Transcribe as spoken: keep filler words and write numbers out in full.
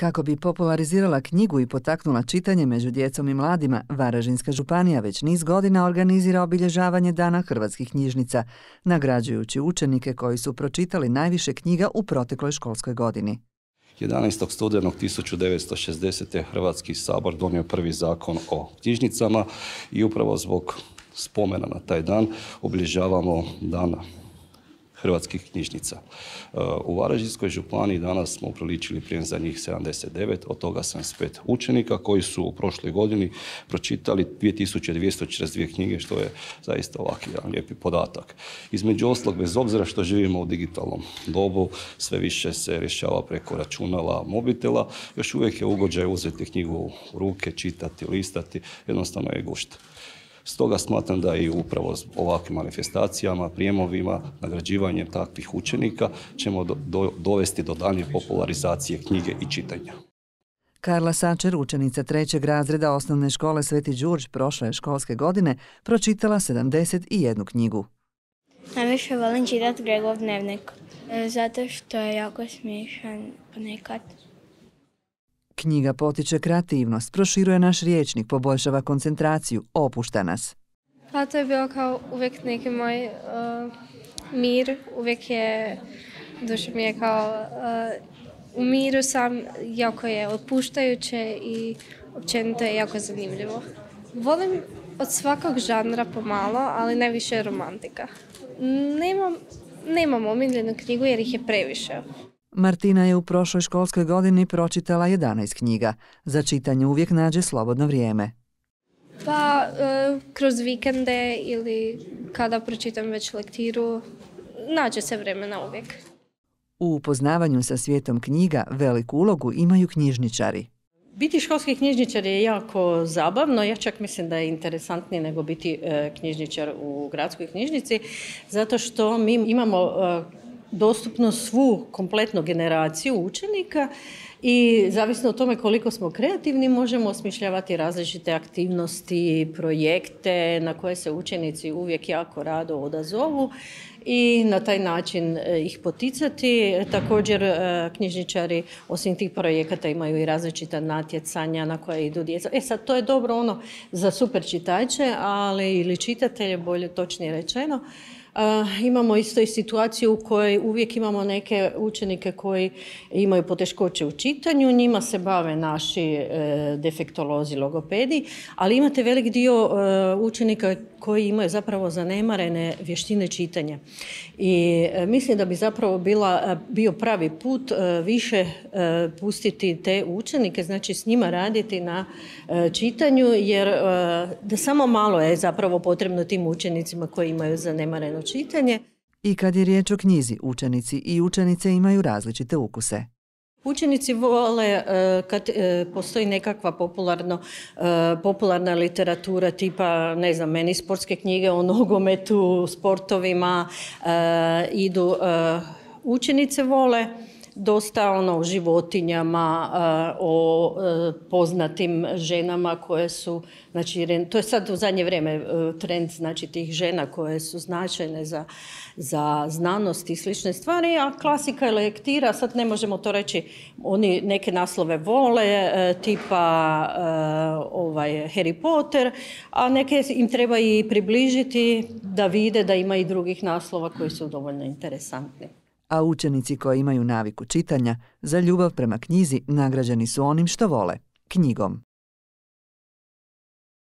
Kako bi popularizirala knjigu i potaknula čitanje među djecom i mladima, Varaždinska županija već niz godina organizira obilježavanje Dana hrvatskih knjižnica, nagrađujući učenike koji su pročitali najviše knjiga u protekloj školskoj godini. jedanaestog studenog tisuću devetsto šezdesete. Hrvatski sabor donio prvi zakon o knjižnicama i upravo zbog spomena na taj dan obilježavamo Dan hrvatskih knjižnica. U Varaždinskoj županiji danas smo upriličili prijem za njih sedamdeset devet, od toga sedamdeset pet učenika koji su u prošloj godini pročitali dvije tisuće dvjesto četrdeset dvije knjige, što je zaista ovaki jedan lijepi podatak. Između ostalog, bez obzira što živimo u digitalnom dobu, sve više se rješava preko računala, mobitela, još uvijek je ugođaj uzeti knjigu u ruke, čitati, listati, jednostavno je gušt. Stoga smatram da i upravo ovakvim manifestacijama, prijemovima, nagrađivanjem takvih učenika ćemo do, do, dovesti do daljnje popularizacije knjige i čitanja. Karla Sačer, učenica trećeg razreda osnovne škole Sveti Đurđ prošle školske godine, pročitala sedamdeset jednu knjigu. Najviše volim čitati Gregov dnevnik, zato što je jako smiješan ponekad. Knjiga potiče kreativnost, proširuje naš rječnik, poboljšava koncentraciju, opušta nas. Pa to je bilo kao uvijek neki moj uh, mir, uvijek je, duša mi je kao uh, u miru sam, jako je otpuštajuće i općenito je jako zanimljivo. Volim od svakog žanra pomalo, ali najviše romantika. Nemam, nemam omiljenu knjigu jer ih je previše. Martina je u prošloj školskoj godini pročitala jedanaest knjiga. Za čitanje uvijek nađe slobodno vrijeme. Pa, e, kroz vikende ili kada pročitam već lektiru, nađe se vremena uvijek. U upoznavanju sa svijetom knjiga veliku ulogu imaju knjižničari. Biti školski knjižničar je jako zabavno, ja čak mislim da je interesantnije nego biti e, knjižničar u gradskoj knjižnici, zato što mi imamo e, dostupno svu kompletnu generaciju učenika i zavisno od tome koliko smo kreativni možemo osmišljavati različite aktivnosti, projekte na koje se učenici uvijek jako rado odazovu i na taj način ih poticati. Također knjižničari osim tih projekata imaju i različita natjecanja na koje idu djeca. E sad, to je dobro ono za super čitače, ali ili čitatelje, bolje točnije rečeno. Uh, imamo isto i situaciju u kojoj uvijek imamo neke učenike koji imaju poteškoće u čitanju, njima se bave naši uh, defektolozi, logopedi, ali imate velik dio uh, učenika koji imaju zapravo zanemarene vještine čitanja. I uh, mislim da bi zapravo bila, uh, bio pravi put uh, više uh, pustiti te učenike, znači s njima raditi na uh, čitanju, jer uh, da samo malo je zapravo potrebno tim učenicima koji imaju zanemareno čitanje. I kad je riječ o knjizi, učenici i učenice imaju različite ukuse. Učenici vole kad postoji nekakva popularno, popularna literatura tipa, ne znam, meni sportske knjige o nogometu, sportovima, idu, učenice vole dosta ono o životinjama, o poznatim ženama koje su, znači to je sad u zadnje vrijeme trend, znači tih žena koje su značajne za, za znanost i slične stvari, a klasika je lektira, sad ne možemo to reći, oni neke naslove vole, tipa ovaj Harry Potter, a neke im treba i približiti da vide da ima i drugih naslova koji su dovoljno interesantni. A učenici koji imaju naviku čitanja za ljubav prema knjizi nagrađeni su onim što vole, knjigom.